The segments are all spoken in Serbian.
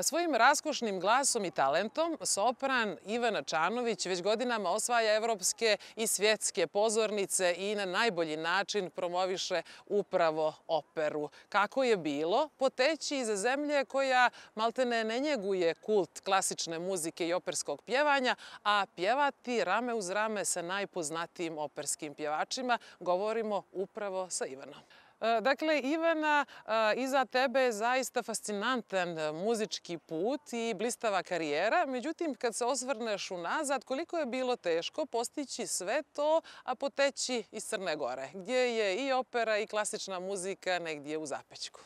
Svojim raskošnim glasom i talentom sopran Ivana Čanović već godinama osvaja evropske i svjetske pozornice i na najbolji način promoviše upravo operu. Kako je bilo poteći iza zemlje koja maltene ne njeguje kult klasične muzike i operskog pjevanja, a pjevati rame uz rame sa najpoznatijim operskim pjevačima, govorimo upravo sa Ivanom. Dakle, Ivana, iza tebe je zaista fascinantan muzički put i blistava karijera. Međutim, kad se osvrneš unazad, koliko je bilo teško postići sve to, a poteći iz Crne Gore, gdje je i opera i klasična muzika negdje u zapećku.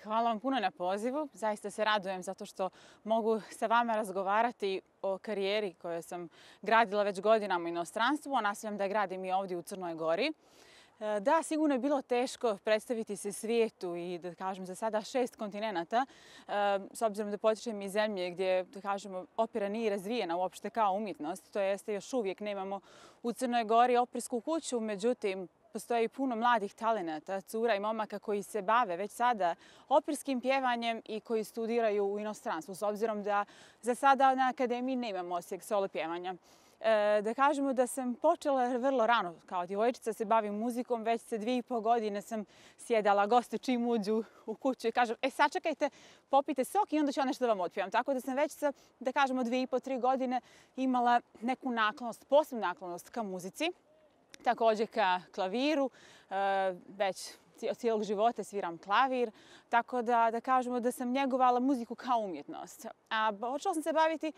Hvala vam puno na pozivu. Zaista se radujem zato što mogu sa vama razgovarati o karijeri koju sam gradila već godinama u inostranstvu, a nastavljam da je gradim i ovdje u Crnoj Gori. Da, sigurno je bilo teško predstaviti se svijetu i da kažem za sada 6 kontinenata, s obzirom da potičem iz zemlje gdje da kažemo opera nije razvijena uopšte kao umjetnost, to jeste još uvijek nemamo u Crnoj Gori opersku kuću, međutim postoji puno mladih talenata, cura i momaka koji se bave već sada operskim pjevanjem i koji studiraju u inostranstvu, s obzirom da za sada na akademiji nemamo osijek solo pjevanja. Da kažemo da sam počela vrlo rano kao djevojčica se bavim muzikom, već se 2,5 godine sam sjedala goste čim uđu u kuću i kažem sačekajte, popite sok i onda ću ja nešto da vam otpjevam. Tako da sam već sa, da kažemo, 2,5-3 godine imala neku naklonost, posebnu naklonost ka muzici, također ka klaviru, već od cijelog života sviram klavir, tako da kažemo da sam njegovala muziku kao umjetnost. A počela sam se baviti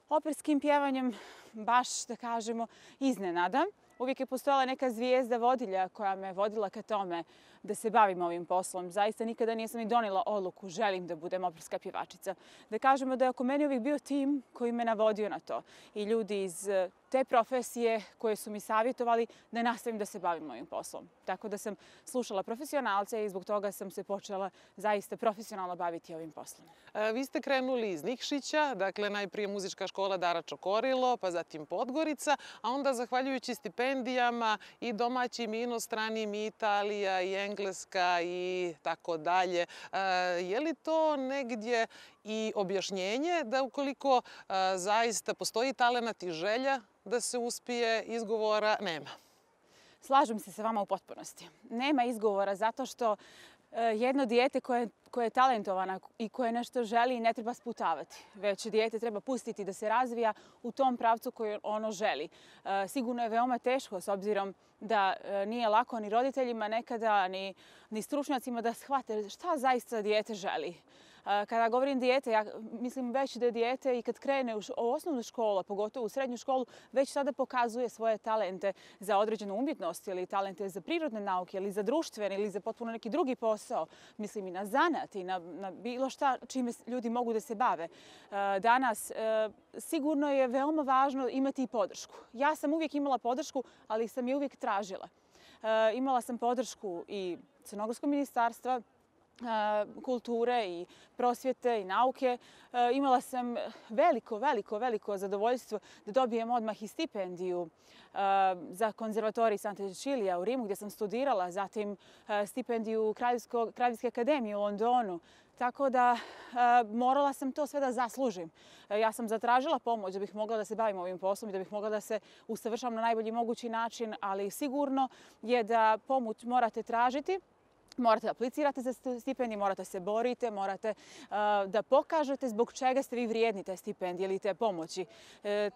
operskim pjevanjem baš, da kažemo, iznenada. Uvijek je postojala neka zvijezda vodilja koja me vodila ka tome da se bavim ovim poslom. Zaista nikada nisam ni donijela odluku, želim da budem operska pjevačica. Da kažemo da je oko mene uvijek bio tim koji me navodio na to. I ljudi iz te profesije koje su mi savjetovali da nastavim da se bavim ovim poslom. Tako da sam slušala profesionalce i zbog toga sam se počela zaista profesionalno baviti ovim poslom. Vi ste krenuli iz Nikšića, dakle najprije muzička škola Dara Čokorilo, pa zatim Podgorica, a onda zahvaljujući stipendijama i domaćim i inostranim i Italija i Engleska i tako dalje. Je li to negdje i objašnjenje da ukoliko zaista postoji talenat i želja da se uspije, izgovora nema? Slažem se sa vama u potpunosti. Nema izgovora zato što jedno dijete koje je talentovano i koje nešto želi ne treba sputavati, već dijete treba pustiti da se razvija u tom pravcu koji ono želi. Sigurno je veoma teško s obzirom da nije lako ni roditeljima nekada, ni stručnjacima da shvate šta zaista dijete želi. Kada govorim dijete, ja mislim već da je dijete i kad krene u osnovnu školu, a pogotovo u srednju školu, već sada pokazuje svoje talente za određenu umjetnost ili talente za prirodne nauke ili za društvene ili za potpuno neki drugi posao. Mislim i na zanat i na bilo šta čime ljudi mogu da se bave. Danas sigurno je veoma važno imati i podršku. Ja sam uvijek imala podršku, ali sam je uvijek tražila. Imala sam podršku i Crnogorskog ministarstva kulture i prosvjete i nauke. Imala sam veliko zadovoljstvo da dobijem odmah i stipendiju za konzervatorij Santa Cecilia u Rimu gdje sam studirala, zatim stipendiju Kraljevske akademije u Londonu. Tako da morala sam to sve da zaslužim. Ja sam zatražila pomoć da bih mogla da se bavim ovim poslom i da bih mogla da se usavršavam na najbolji mogući način, ali sigurno je da pomoć morate tražiti. Morate da aplicirate za stipendije, morate se borite, morate da pokažete zbog čega ste vi vrijedni te stipendije ili te pomoći.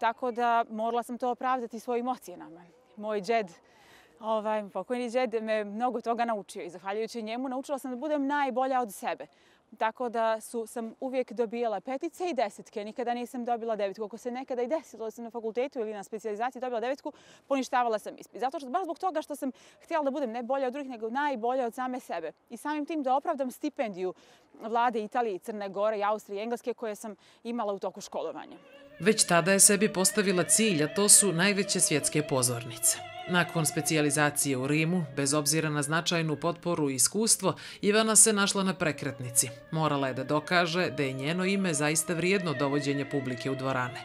Tako da morala sam to opravdati svojim ocjenama. Moj džed, pokojni džed, me mnogo toga naučio i zahvaljujući njemu naučila sam da budem najbolja od sebe. Tako da sam uvijek dobijala 5 i 10, nikada nisam dobila 9. Ako se nekada i desilo da sam na fakultetu ili na specijalizaciji dobila 9, poništavala sam ispit. Baš zbog toga što sam htjela da budem ne bolja od drugih, nego najbolja od same sebe. I samim tim da opravdam stipendiju vlade Italije, Crne Gore, Austrije i Engleske koje sam imala u toku školovanja. Već tada je sebi postavila cilj, a to su najveće svjetske pozornice. Nakon specijalizacije u Rimu, bez obzira na značajnu potporu i iskustvo, Ivana se našla na prekretnici. Morala je da dokaže da je njeno ime zaista vrijedno dovođenja publike u dvorane.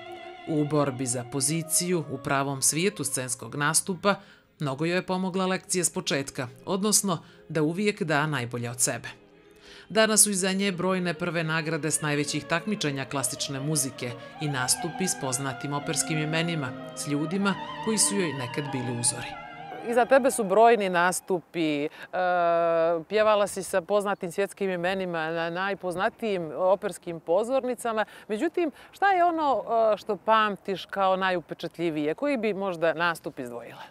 U borbi za poziciju u pravom svijetu scenskog nastupa mnogo joj je pomogla lekcija s početka, odnosno da uvijek da najbolje od sebe. Danas su iza nje brojne prve nagrade s najvećih takmičenja klasične muzike i nastupi s poznatim operskim imenima, s ljudima koji su joj nekad bili uzori. Iza tebe su brojni nastupi, pjevala si sa poznatim svjetskim imenima na najpoznatijim operskim pozornicama. Međutim, šta je ono što pamtiš kao najupečatljivije? Koji bi možda nastup izdvojila?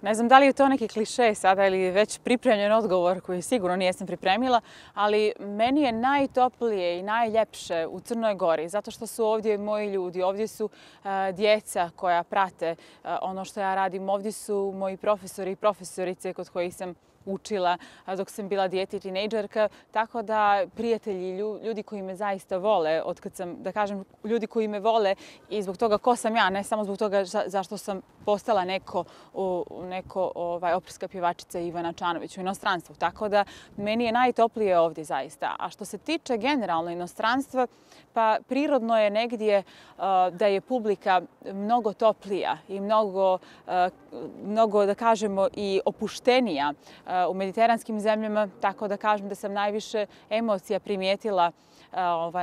Ne znam da li je to neki kliše sada ili već pripremljen odgovor koji sigurno nisam pripremila, ali meni je najtoplije i najljepše u Crnoj Gori zato što su ovdje moji ljudi, ovdje su djeca koja prate ono što ja radim, ovdje su moji profesori i profesorice kod kojih sam učila dok sam bila dijete i tinejdžerka, tako da prijatelji, ljudi koji me zaista vole, otkad sam, da kažem, ljudi koji me vole i zbog toga ko sam ja, ne samo zbog toga zašto sam postala neko operska pjevačica Ivana Čanović u inostranstvu. Tako da meni je najtoplije ovdje zaista. A što se tiče generalno inostranstva, pa prirodno je negdje da je publika mnogo toplija i mnogo, da kažemo, i opuštenija u mediteranskim zemljama, tako da kažem da sam najviše emocija primijetila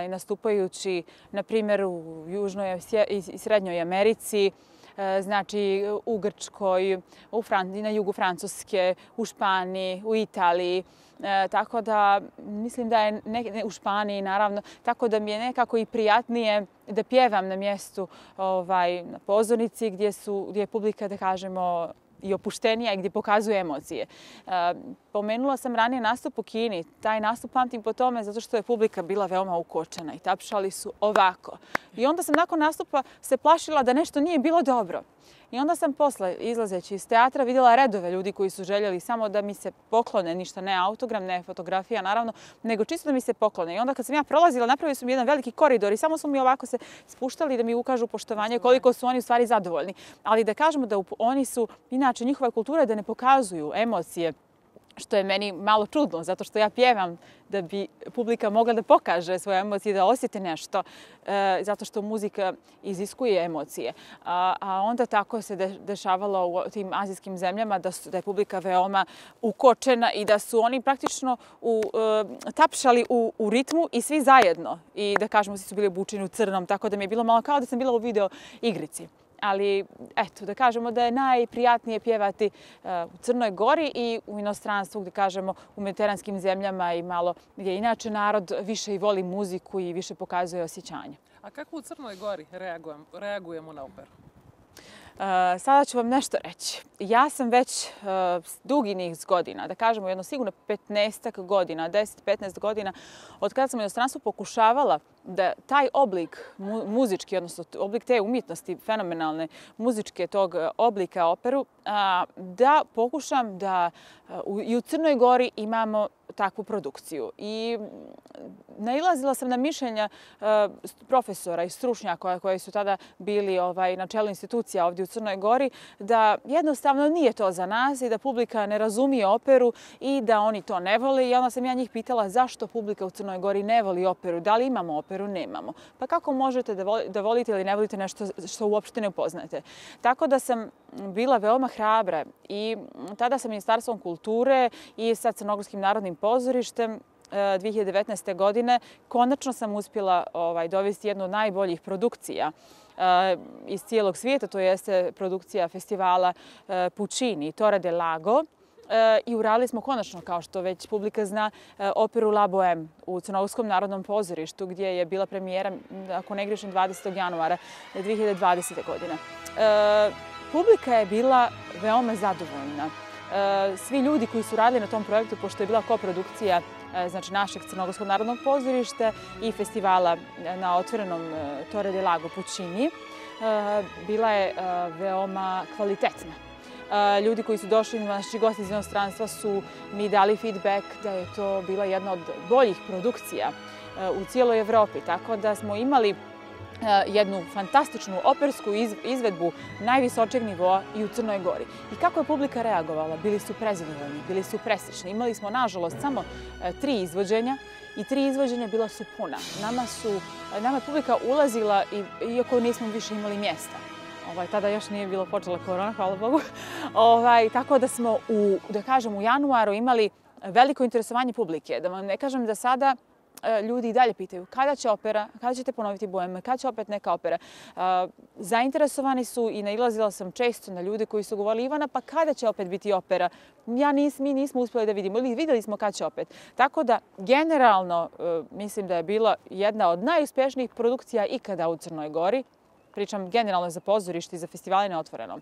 nastupajući, na primjer, u Južnoj i Srednjoj Americi, znači u Grčkoj, na jugu Francuske, u Španiji, u Italiji. Tako da mislim da je u Španiji, naravno, tako da mi je nekako i prijatnije da pjevam na mjestu na pozornici gdje je publika, da kažemo, i opuštenija i gdje pokazuje emocije. Pomenula sam ranije nastup u Kini. Taj nastup pamtim po tome zato što je publika bila veoma ukočena i tapšali su ovako. I onda sam nakon nastupa se plašila da nešto nije bilo dobro. I onda sam posle, izlazeći iz teatra, vidjela redove ljudi koji su željeli samo da mi se poklone, ništa, ne autogram, ne fotografija, naravno, nego čisto da mi se poklone. I onda kad sam ja prolazila, napravili su mi jedan veliki koridor i samo su mi ovako se spuštali da mi ukažu poštovanje koliko su oni u stvari zadovoljni. Ali da kažemo da oni su, inače, njihova kultura je da ne pokazuju emocije, što je meni malo čudno, zato što ja pjevam da bi publika mogla da pokaže svoje emocije, da osjeti nešto, zato što muzika iziskuje emocije. A onda tako se dešavalo u tim azijskim zemljama, da je publika veoma ukočena i da su oni praktično tapšali u ritmu i svi zajedno. I da kažemo, svi su bili obučeni u crnom, tako da mi je bilo malo kao da sam bila u video igrici. Ali, eto, da kažemo da je najprijatnije pjevati u Crnoj Gori i u inostranstvu, da kažemo, u mediteranskim zemljama i malo gdje inače narod više i voli muziku i više pokazuje osjećanje. A kako u Crnoj Gori reagujemo na operu? Sada ću vam nešto reći. Ja sam već dugi niz godina, da kažemo jedno sigurno 15 godina, 10-15 godina, od kada sam u inostranstvu pokušavala da taj oblik muzički, odnosno oblik te umjetnosti, fenomenalne muzičke tog oblika operu, da pokušam da i u Crnoj Gori imamo takvu produkciju. I nailazila sam na mišljenja profesora i stručnjaka koji su tada bili na čelu institucija ovdje u Crnoj Gori, da jednostavno nije to za nas i da publika ne razumije operu i da oni to ne vole. I onda sam ja njih pitala zašto publika u Crnoj Gori ne voli operu, da li imamo operu, nemamo. Pa kako možete da volite ili ne volite nešto što uopšte ne upoznate? Tako da sam bila veoma hrabra i tada sa Ministarstvom kulture i sa Crnogorskim narodnim pozorištem 2019. godine konačno sam uspjela dovesti jednu od najboljih produkcija iz cijelog svijeta, to jeste produkcija festivala Puccini, Torre del Lago. I uradili smo konačno, kao što već publika zna, operu La Bohème u Crnogorskom narodnom pozorištu, gdje je bila premijera, ako ne grešim, 20. januara 2020. godine. Publika je bila veoma zadovoljna. Svi ljudi koji su radili na tom projektu, pošto je bila koprodukcija znači našeg Crnogorskog narodnog pozorišta i festivala na otvorenom Torre del Lago Puccini, bila je veoma kvalitetna. Ljudi koji su došli, naši gosti iz inostranstva, su mi dali feedback da je to bila jedna od boljih produkcija u cijeloj Evropi. Tako da smo imali jednu fantastičnu opersku izvedbu najvisočeg nivoa i u Crnoj Gori. I kako je publika reagovala? Bili su prezadovoljni, bili su presrećni. Imali smo, nažalost, samo 3 izvođenja i 3 izvođenja bila su puna. Nama je publika ulazila iako nismo više imali mjesta. Tada još nije bilo počela korona, hvala Bogu. Tako da smo, da kažem, u januaru imali veliko interesovanje publike. Da vam ne kažem da sada ljudi i dalje pitaju kada će opera, kada ćete ponoviti Bohème, kada će opet neka opera. Zainteresovani su i nailazila sam često na ljude koji su govorili Ivana, pa kada će opet biti opera? Mi nismo uspjeli da vidimo ili vidjeli smo kada će opet. Tako da, generalno, mislim da je bila jedna od najuspješnijih produkcija ikada u Crnoj Gori. Pričam generalno za pozorište i za festivale na otvorenom.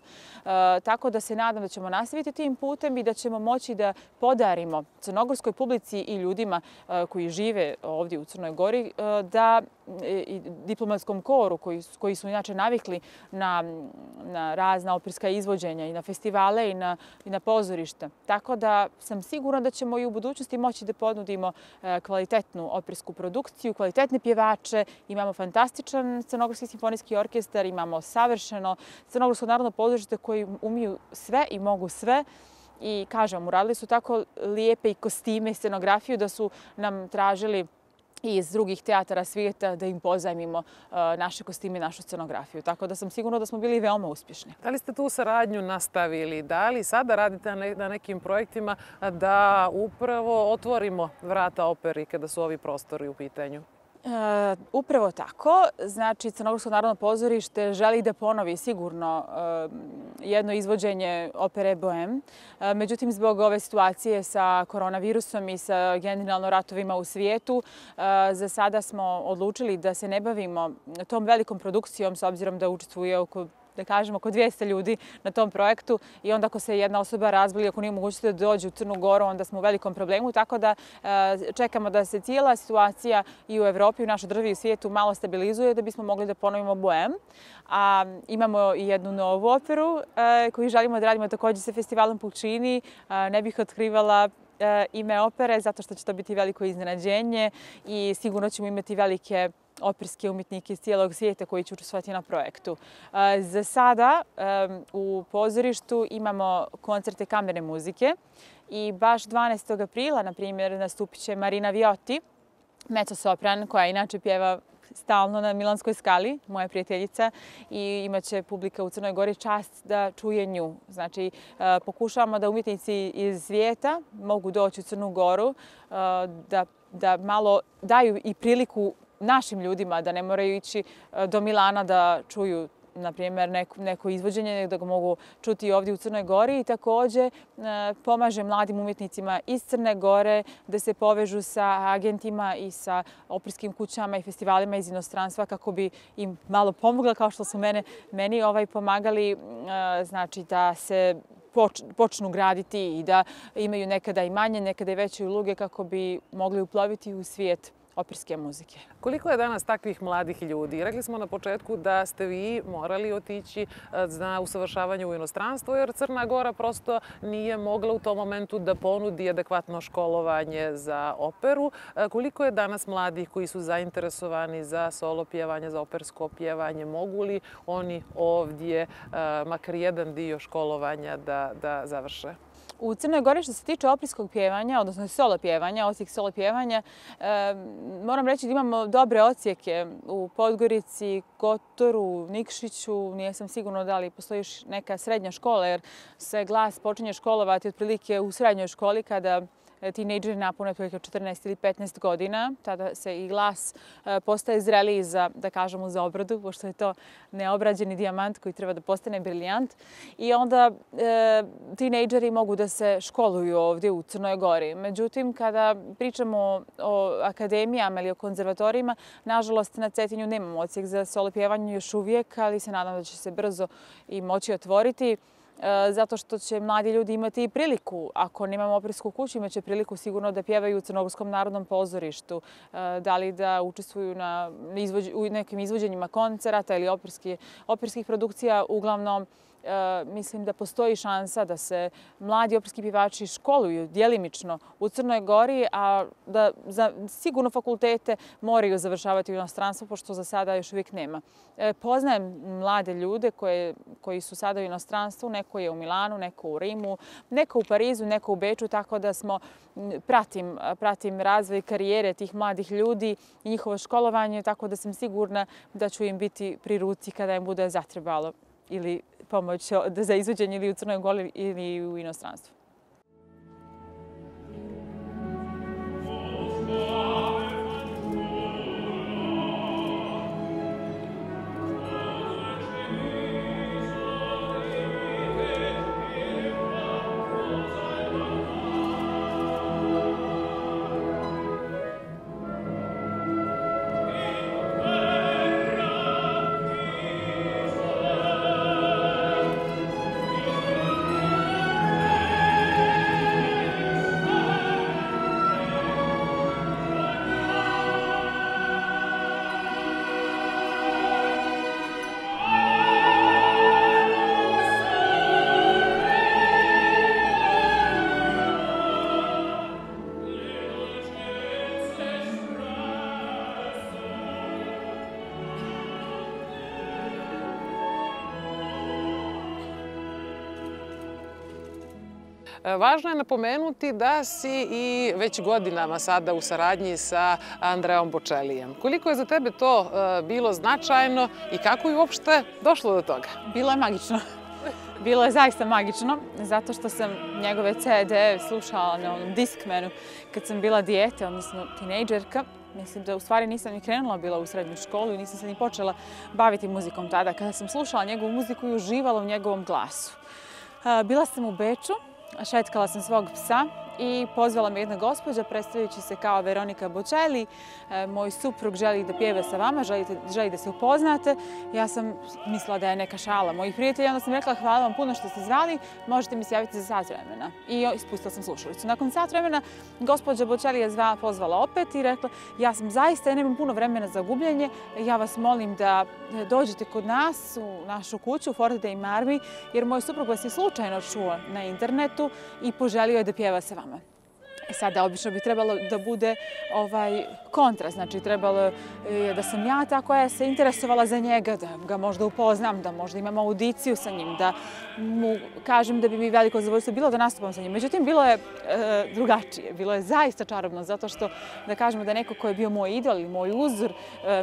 Tako da se nadam da ćemo nastaviti tim putem i da ćemo moći da podarimo crnogorskoj publici i ljudima koji žive ovdje u Crnoj Gori, da i diplomatskom koru koji su inače navikli na razna operska izvođenja i na festivale i na pozorišta. Tako da sam sigurna da ćemo i u budućnosti moći da ponudimo kvalitetnu opersku produkciju, kvalitetne pjevače. Imamo fantastičan Crnogorski simfonijski orkestar, imamo savršeno Crnogorsko narodno pozorište koji umiju sve i mogu sve. I kažem, uradili su tako lijepe i kostime i scenografiju da su nam tražili i iz drugih teatara svijeta da im pozajmimo naše kostime i našu scenografiju. Tako da sam sigurna da smo bili veoma uspješni. Da li ste tu saradnju nastavili? Da li sada radite na nekim projektima da upravo otvorimo vrata operi kada su ovi prostori u pitanju? Upravo tako. Znači, Crnogorsko narodno pozorište želi da ponovi sigurno jedno izvođenje opere Bohème. Međutim, zbog ove situacije sa koronavirusom i sa generalno ratovima u svijetu, za sada smo odlučili da se ne bavimo tom velikom produkcijom s obzirom da učestvuje oko 200 ljudi na tom projektu i onda ako se jedna osoba razboli, ako nije mogućnosti da dođe u Crnu Goru, onda smo u velikom problemu. Tako da čekamo da se cijela situacija i u Evropi, u našoj državi i u svijetu malo stabilizuje da bismo mogli da ponovimo Bohème. A imamo i jednu novu operu koju želimo da radimo također sa festivalom Pulcini. Ne bih otkrivala ime opere zato što će to biti veliko iznenađenje i sigurno ćemo imati velike operske umjetnike iz cijelog svijeta koji će učestvovati na projektu. Za sada u pozorištu imamo koncerte kamerne muzike i baš 12. aprila, na primjer, nastupit će Marina Viotti, mezzosopran, koja inače pjeva stalno na Milanskoj skali, moja prijateljica, i imaće publika u Crnoj Gori čast da čuje nju. Znači, pokušavamo da umjetnici iz svijeta mogu doći u Crnu Goru, da malo daju i priliku našim ljudima, da ne moraju ići do Milana da čuju, na primjer, neko izvođenje, da ga mogu čuti ovdje u Crnoj Gori. I također pomaže mladim umjetnicima iz Crne Gore da se povežu sa agentima i sa operskim kućama i festivalima iz inostranstva kako bi im malo pomogla, kao što su meni pomagali, znači da se počnu graditi i da imaju nekada i manje, nekada i veće uloge kako bi mogli uploviti u svijet operske muzike. Koliko je danas takvih mladih ljudi? Rekli smo na početku da ste vi morali otići na usavršavanje u inostranstvo jer Crna Gora prosto nije mogla u tom momentu da ponudi adekvatno školovanje za operu. Koliko je danas mladih koji su zainteresovani za solo pjevanje, za opersko pjevanje? Mogu li oni ovdje makar jedan dio školovanja da završe? U Crnoj Gori što se tiče operskog pjevanja, odnosno solo pjevanja, odsjek solo pjevanja, moram reći da imamo dobre odsjeke u Podgorici, Kotoru, Nikšiću. Nisam sigurna da li postoji još neka srednja škola jer se glas počinje školovati otprilike u srednjoj školi kada tinejdžeri napune otprilike 14 ili 15 godina. Tada se i glas postaje zreliji za, da kažemo, za obradu, pošto je to neobrađeni dijamant koji treba da postane briljant. I onda tinejdžeri mogu da se školuju ovdje u Crnoj Gori. Međutim, kada pričamo o akademijama ili o konzervatorijima, nažalost na Cetinju nemamo odsjek za solo pjevanje još uvijek, ali se nadam da će se brzo i moći otvoriti. Zato što će mladi ljudi imati i priliku, ako nemamo opersku kuću, imaće priliku sigurno da pjevaju u Crnogorskom narodnom pozorištu, da li da učestvuju u nekim izvođenjima koncerata ili operskih produkcija. Uglavnom, mislim da postoji šansa da se mladi operski pjevači školuju djelimično u Crnoj Gori, a da sigurno fakultete moraju završavati u inostranstvu, pošto za sada još uvijek nema. Poznajem mlade ljude koji su sada u inostranstvu, neko je u Milanu, neko u Rimu, neko u Parizu, neko u Beču, tako da pratim razvoj karijere tih mladih ljudi i njihovo školovanje, tako da sam sigurna da ću im biti pri ruci kada im bude zatrebalo ili pomoć za izvođenje ili u Crnoj Gori ili u inostranstvu. Važno je napomenuti da si i već godinama sada u saradnji sa Andreom Bocellijem. Koliko je za tebe to bilo značajno i kako je uopšte došlo do toga? Bilo je magično. Bilo je zaista magično, zato što sam njegove CD slušala na onom Discmanu kad sam bila dijete, odnosno tinejdžerka. Mislim da u stvari nisam ni krenula bila u srednju školu i nisam se ni počela baviti muzikom tada. Kada sam slušala njegovu muziku i uživala u njegovom glasu. Bila sam u Beču, šetkala sam svog psa i pozvala me jedna gospođa predstavljajući se kao Veronika Bocelli. Moj suprug želi da pjeva sa vama, želi da se upoznate. Ja sam mislila da je neka šala mojih prijatelja, onda sam rekla hvala vam puno što ste zvali, možete mi se javiti za sat vremena. I ispustila sam slušalicu. Nakon sat vremena gospođa Bocelli je pozvala opet i rekla ja sam zaista, ja nemam puno vremena za gubljenje, ja vas molim da dođete kod nas u našu kuću u Forte dei Marmi, jer moj suprug vas je slučajno čuo na internetu i poželio je da pjeva sa vama. Sada obično bi trebalo da bude kontra, znači trebalo je da sam ja ta koja se interesovala za njega, da ga možda upoznam, da možda imam audiciju sa njim, da mu kažem da bi mi veliko zadovoljstvo bilo da nastupam sa njim. Međutim, bilo je drugačije, bilo je zaista čarobno, zato što da kažemo da neko ko je bio moj idol ili moj uzor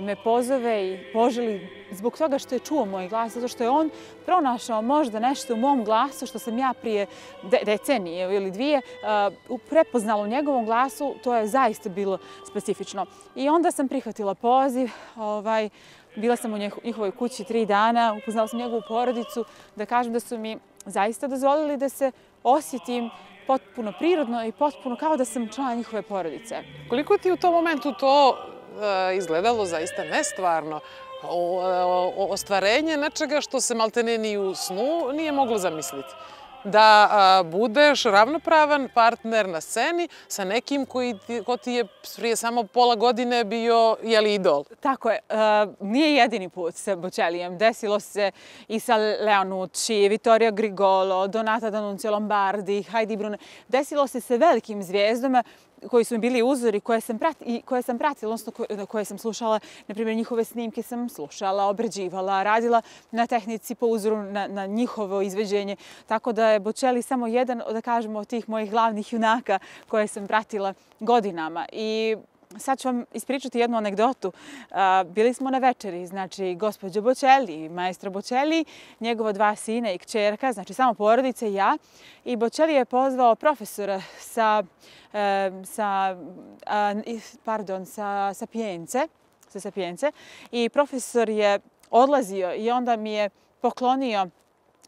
me pozove i poželi zbog toga što je čuo moj glas, zato što je on pronašao možda nešto u mom glasu što sam ja prije decenije ili dvije prepoznala u njegovom glasu, to je zaista bilo specifično. I onda sam prihvatila poziv, bila sam u njihovoj kući 3 dana, upoznala sam njegovu porodicu, da kažem da su mi zaista dozvolili da se osjetim potpuno prirodno i potpuno kao da sam član njihove porodice. Koliko ti u tom momentu to izgledalo zaista nestvarno? Ostvarenje nečega što se maltene ni u snu nije moglo zamisliti. Da budeš ravnopravan partner na sceni sa nekim ko ti je prije samo pola godine bio idol. Tako je. Nije jedini put sa Bocellijem. Desilo se i sa Leonucci, Vittorio Grigolo, Donata D'Annunzio Lombardi, Heidi Brune. Desilo se sa velikim zvijezdama koji su mi bili uzori, koje sam pratila, odnosno koje sam slušala, na primjer njihove snimke sam slušala, obrađivala, radila na tehnici po uzoru na njihovo izveđenje. Tako da je Bocelli samo jedan, da kažemo, od tih mojih glavnih junaka koje sam pratila godinama. I sad ću vam ispričati jednu anegdotu. Bili smo na večeri, znači gospođa Bocelli, maestro Bocelli, njegova 2 sina i kćerka, znači samo porodice i ja. I Bocelli je pozvao profesora sa Sapience i profesor je odlazio i onda mi je poklonio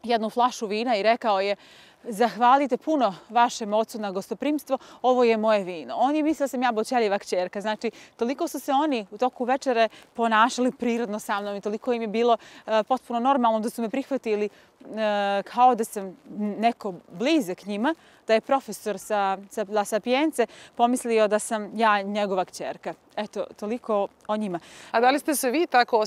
jednu flašu vina i rekao je zahvalite puno vašem ocu na gostoprimstvo, ovo je moje vino. On je mislio da sam ja Bocellijeva kćerka. Znači, toliko su se oni u toku večere ponašali prirodno sa mnom i toliko im je bilo potpuno normalno da su me prihvatili kao da sam neko blizak njima, da je profesor sa La Sapience pomislio da sam ja njegova kćerka. Eto, toliko o njima. A da li ste se vi tako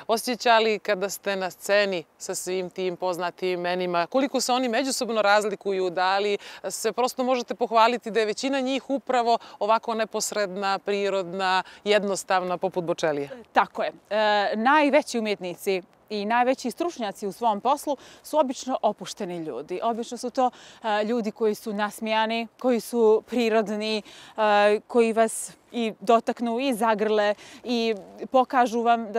osjećali kada ste na sceni sa svim tim poznatim imenima? Koliko se oni međusobno razlikuju? Da li se prosto možete pohvaliti da je većina njih upravo ovako neposredna, prirodna, jednostavna poput Bocellija? Tako je. Najveći umjetnici i najveći stručnjaci u svom poslu su obično opušteni ljudi. Obično su to ljudi koji su nasmijani, koji su prirodni, koji vas i dotaknu i zagrle i pokažu vam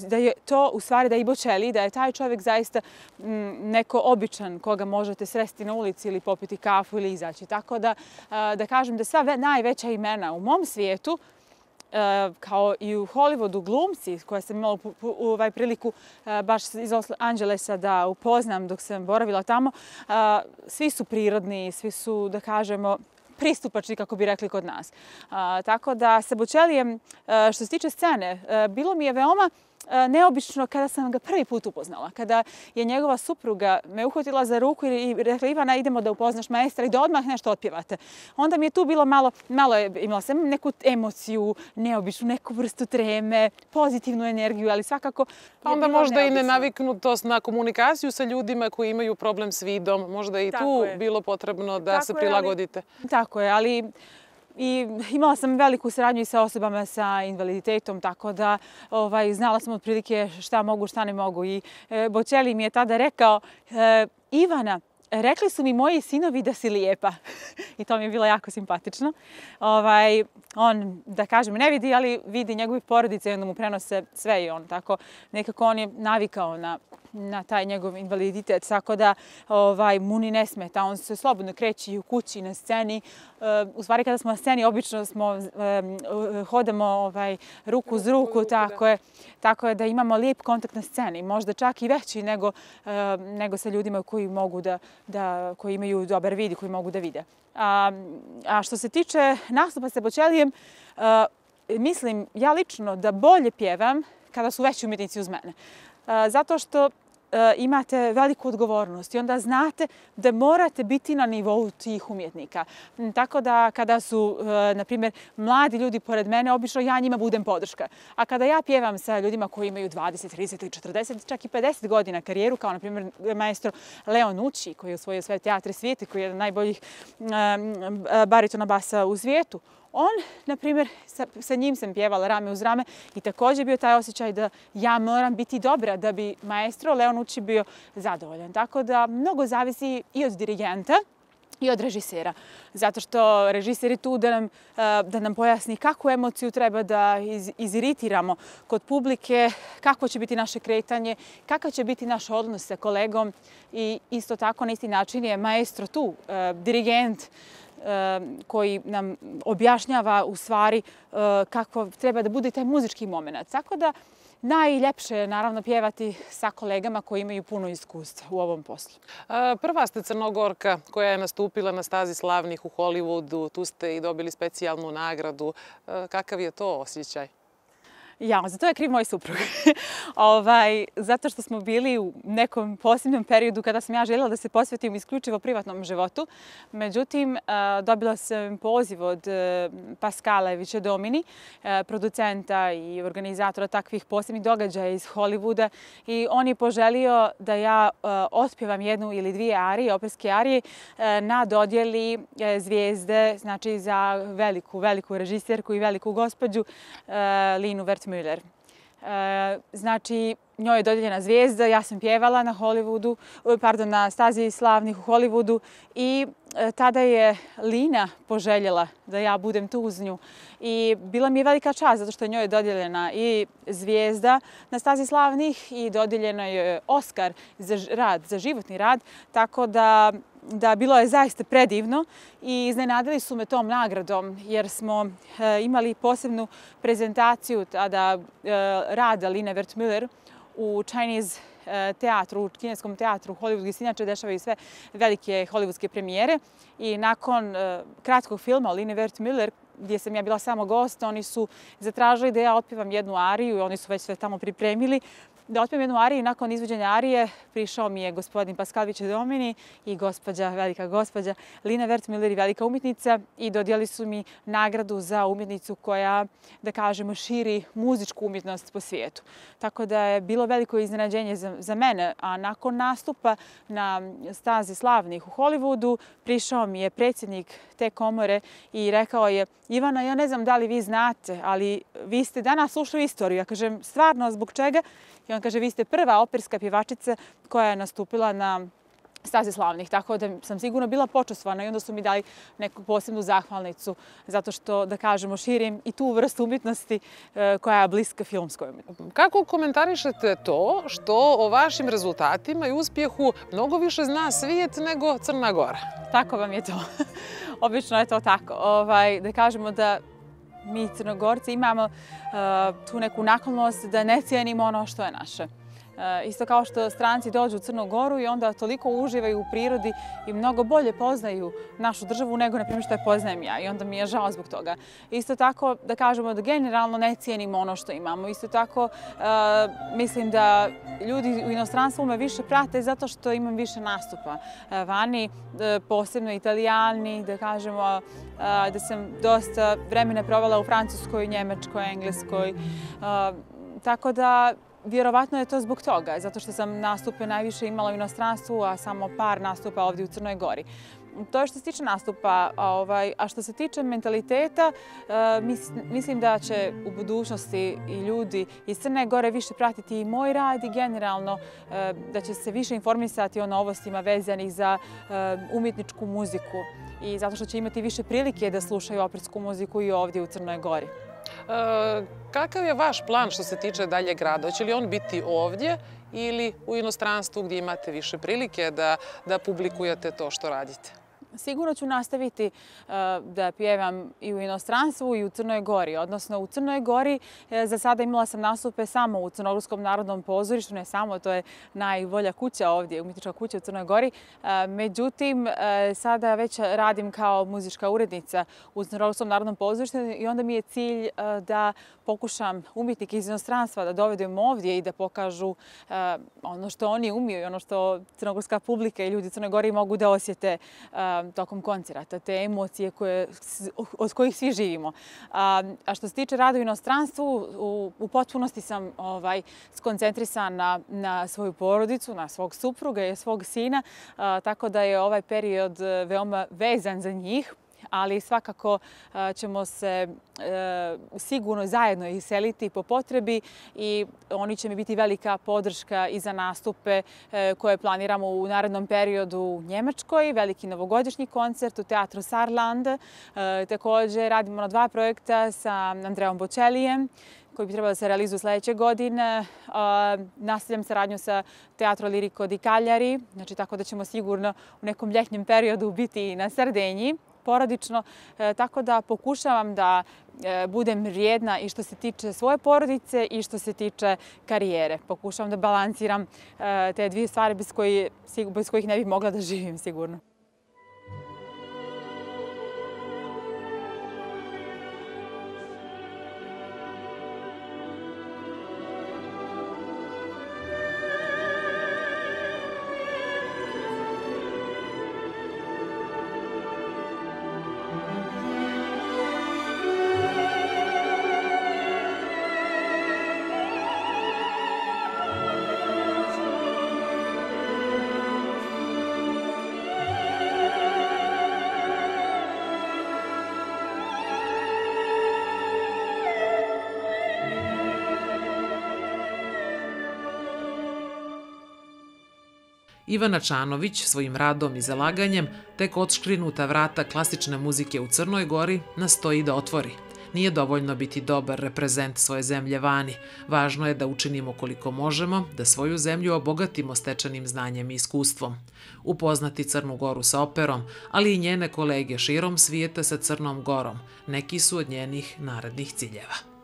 da je to u stvari da je i Bocelli, da je taj čovjek zaista neko običan koga možete sresti na ulici ili popiti kafu ili izaći. Tako da kažem da sva najveća imena u mom svijetu, kao i u Hollywoodu glumci koje sam imala priliku baš iz Los Angelesa da upoznam dok sam boravila tamo, svi su prirodni, svi su, da kažemo, pristupačni, kako bi rekli kod nas. Tako da sa Bocellijem, što se tiče scene, bilo mi je veoma neobično kada sam ga prvi put upoznala. Kada je njegova supruga me uhvatila za ruku i rekla Ivana, idemo da upoznaš maestra i da odmah nešto otpjevate. Onda mi je tu bilo imala sam neku emociju, neobičnu, neku vrstu treme, pozitivnu energiju, ali svakako... Pa onda možda i nenaviknutost na komunikaciju sa ljudima koji imaju problem s vidom. Možda i tu bilo potrebno da se prilagodite. Tako je, ali... I imala sam veliku saradnju i sa osobama sa invaliditetom, tako da znala sam otprilike šta mogu, šta ne mogu. I Bocelli mi je tada rekao, Ivana, rekli su mi moji sinovi da si lijepa i to mi je bilo jako simpatično. On, da kažem, ne vidi, ali vidi njegove porodice i onda mu prenose sve i on tako. Nekako on je navikao na taj njegov invaliditet, tako da mu ni ne smeta. On se slobodno kreće i u kući, na sceni. U stvari, kada smo na sceni, obično hodamo ruku uz ruku, tako je da imamo lijep kontakt na sceni. Možda čak i veći nego sa ljudima koji imaju dobar vid i koji mogu da vide. A što se tiče nastupa sa Bočelijem, mislim ja lično da bolje pjevam kada su veći umjetnici uz mene. Zato što imate veliku odgovornost i onda znate da morate biti na nivou tih umjetnika. Tako da kada su, na primjer, mladi ljudi pored mene, obično ja njima budem podrška. A kada ja pjevam sa ljudima koji imaju 20, 30 ili 40, čak i 50 godina karijeru, kao na primjer maestro Leo Nucci, koji je osvojio sve teatre svijeta, koji je jedan od najboljih baritona basa u svijetu, on, na primjer, sa njim sam pjevala rame uz rame i također bio taj osjećaj da ja moram biti dobra da bi maestro Leo Nucci bio zadovoljan. Tako da mnogo zavisi i od dirigenta i od režisera. Zato što režiser je tu da nam pojasni kakvu emociju treba da iziritiramo kod publike, kako će biti naše kretanje, kakav će biti naš odnos sa kolegom i isto tako na isti način je maestro tu, dirigent, koji nam objašnjava u stvari kako treba da bude taj muzički moment. Tako da najljepše je naravno pjevati sa kolegama koji imaju puno iskustva u ovom poslu. Prva ste Crnogorka koja je nastupila na stazi slavnih u Hollywoodu. Tu ste i dobili specijalnu nagradu. Kakav je to osjećaj? Ja, za to je kriv moj suprug. Zato što smo bili u nekom posebnom periodu kada sam ja željela da se posvetim isključivo privatnom životu. Međutim, dobila sam poziv od Pascala Vicedomini, producenta i organizatora takvih posebnih događaja iz Hollywooda. I on je poželio da ja otpjevam jednu ili dvije arije, operske arije, na dodjeli zvijezde, znači za veliku režiserku i veliku gospođu Linu Wertmüller. Znači, njoj je dodijeljena zvijezda, ja sam pjevala na stazi slavnih u Hollywoodu i tada je Lina poželjela da ja budem tu uz nju. I bila mi je velika čast zato što njoj je dodijeljena i zvijezda na stazi slavnih i dodijeljena je Oskar za životni rad, tako da bilo je zaista predivno i iznenadili su me tom nagradom jer smo imali posebnu prezentaciju tada rada Line Wertmüller u Chinese teatru, u kineskom teatru u Hollywoodu, gdje se inače dešavaju sve velike hollywoodske premijere. I nakon kratkog filma o Line Wertmüller, gdje sam ja bila samo gost, oni su zatražili da ja otpjevam jednu ariju i oni su već sve tamo pripremili. Da otpjevam jednu ariju i nakon izvođenja arije prišao mi je gospodin Pascal Vicedomini i velika gospođa Lina Wertmüller i velika umjetnica i dodijeli su mi nagradu za umjetnicu koja, da kažemo, širi muzičku umjetnost po svijetu. Tako da je bilo veliko iznenađenje za mene, a nakon nastupa na stazi slavnih u Hollywoodu prišao mi je predsjednik te komore i rekao je: Ivana, ja ne znam da li vi znate, ali vi ste danas ušli u istoriju. Ja kažem, stvarno, zbog čega? I on kaže, vi ste prva operska pjevačica koja je nastupila na stazi slavnih, tako da sam sigurno bila počastvovana i onda su mi dali neku posebnu zahvalnicu zato što, da kažemo, širim i tu vrstu umjetnosti koja je bliska filmskoj umjetnosti. Kako komentarišete to što o vašim rezultatima i uspjehu mnogo više zna svijet nego Crna Gora? Tako vam je to. Obično je to tako. Da kažemo da mi Crnogorci imamo tu neku naklonost da ne cijenimo ono što je naše. Isto kao što stranci dođu u Crnu Goru i onda toliko uživaju u prirodi i mnogo bolje poznaju našu državu nego, na primjer, što je poznajem ja. I onda mi je žao zbog toga. Isto tako da kažemo da generalno ne cijenimo ono što imamo. Isto tako mislim da ljudi u inostranstvu me više prate zato što imam više nastupa vani, posebno Italijani, da kažemo da sam dosta vremena provela u Francuskoj, Njemačkoj, Engleskoj. Tako da vjerovatno je to zbog toga, zato što sam nastupe najviše imala u inostranstvu, a samo par nastupa ovdje u Crnoj Gori. To je što se tiče nastupa, a što se tiče mentaliteta, mislim da će u budućnosti i ljudi iz Crne Gore više pratiti i moj rad i generalno da će se više informisati o novostima vezanih za umjetničku muziku i zato što će imati više prilike da slušaju opersku muziku i ovdje u Crnoj Gori. Kakav je vaš plan što se tiče daljeg rada? Hoće li on biti ovdje ili u inostranstvu gdje imate više prilike da publikujete to što radite? Sigurno ću nastaviti da pjevam i u inostranstvu i u Crnoj Gori. Odnosno u Crnoj Gori za sada imala sam nastupe samo u Crnogorskom narodnom pozorištu, ne samo, to je najbolja kuća ovdje, umjetnička kuća u Crnoj Gori. Međutim, sada već radim kao muzička urednica u Crnogorskom narodnom pozorištu i onda mi je cilj da pokušam umjetnike iz inostranstva da dovedem ovdje i da pokažu ono što oni umiju i ono što crnogorska publika i ljudi u Crnoj Gori mogu da osjete tokom koncerata, te emocije od kojih svi živimo. A što se tiče rada u inostranstvu, u potpunosti sam skoncentrisana na svoju porodicu, na svog supruga i svog sina, tako da je ovaj period veoma vezan za njih. Ali svakako ćemo se sigurno zajedno iseliti po potrebi i oni će mi biti velika podrška i za nastupe koje planiramo u narednom periodu u Njemačkoj, veliki novogodišnji koncert u teatru Saarland. Također radimo na 2 projekta sa Andreom Bocellijem koji bi trebalo da se realizuju sljedeće godine. Nastavljam saradnju sa Teatro Lirico di Cagliari, znači tako da ćemo sigurno u nekom ljetnjem periodu biti na Sardenji porodično, tako da pokušavam da budem vrijedna i što se tiče svoje porodice i što se tiče karijere. Pokušavam da balansiram te dvije stvari bez kojih ne bih mogla da živim sigurno. Ivana Čanović svojim radom i zalaganjem tek odškrinuta vrata klasične muzike u Crnoj Gori nastoji da otvori. Nije dovoljno biti dobar reprezent svoje zemlje vani. Važno je da učinimo koliko možemo, da svoju zemlju obogatimo stečenim znanjem i iskustvom. Upoznati Crnu Goru sa operom, ali i njene kolege širom svijeta sa Crnom Gorom, neki su od njenih narednih ciljeva.